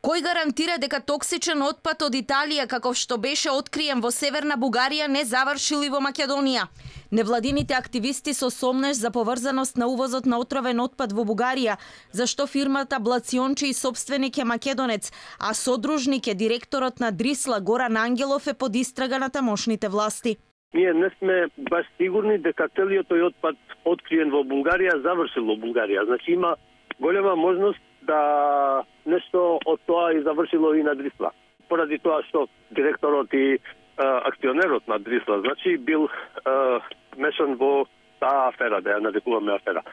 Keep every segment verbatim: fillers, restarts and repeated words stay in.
Кој гарантира дека токсичен отпад од Италија, каков што беше откриен во Северна Бугарија, не завршил и во Македонија? Невладините активисти со сомнеш за поврзаност на увозот на отровен отпад во Бугарија, зашто фирмата Блациончи и собственик е македонец, а содружник е директорот на Дрисла Горан Ангелов е под истрага на тамошните власти. Ние не сме баш сигурни дека целиот тој отпад откриен во Бугарија завршил во Бугарија. Значи има голема можност да нешто од тоа и завршило и на Дрисла. Поради тоа што директорот и а, акционерот на Дрисла, значи, бил а, мешан во таа афера, да ја нарекуваме афера.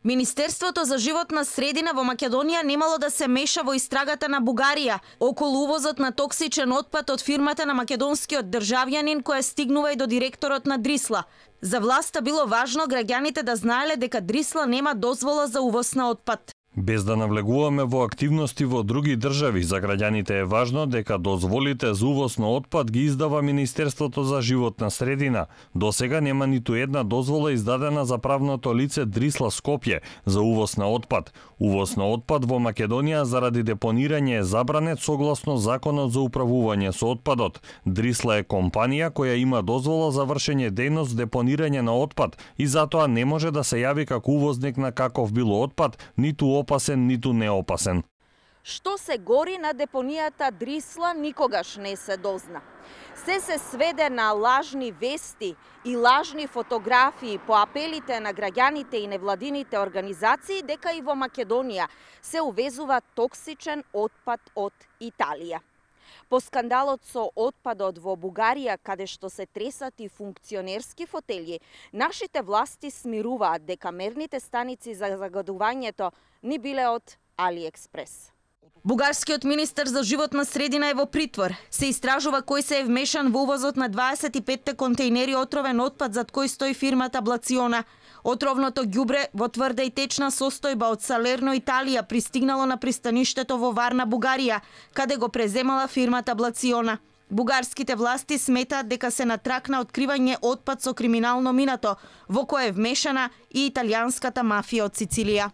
Министерството за животна средина во Македонија немало да се меша во истрагата на Бугарија околу увозот на токсичен отпад од фирмата на македонскиот државјанин која стигнува и до директорот на Дрисла. За власта било важно граѓаните да знаеле дека Дрисла нема дозвола за увоз на отпад. Без да навлегуваме во активности во други држави, за граѓаните е важно дека дозволите за увоз на отпад ги издава Министерството за животна средина. До сега нема ниту една дозвола издадена за правното лице Дрисла Скопје за увоз на отпад. Увоз на отпад во Македонија заради депонирање е забранет согласно Законот за управување со отпадот. Дрисла е компанија која има дозвола за вршење дејност депонирање на отпад и затоа не може да се јави како увозник на каков било отпад, ниту опасен, ниту неопасен. Што се гори на депонијата Дрисла никогаш не се дозна. Се се сведе на лажни вести и лажни фотографии по апелите на граѓаните и невладините организации дека и во Македонија се увезува токсичен отпад од Италија. По скандалот со отпадот во Бугарија, каде што се тресат и функционерски фотели, нашите власти смируваат дека мерните станици за загадувањето ни биле од Алиекспрес. Бугарскиот министер за животна средина е во притвор. Се истражува кој се е вмешан во увозот на дваесет и петте контејнери отровен отпад зад кој стои фирмата Блациона. Отровното ѓубре во тврда и течна состојба од Салерно, Италија, пристигнало на пристаништето во Варна, Бугарија, каде го преземала фирмата Блациона. Бугарските власти сметаат дека се на трак на откривање отпад со криминално минато, во кое е вмешана и италијанската мафија од Сицилија.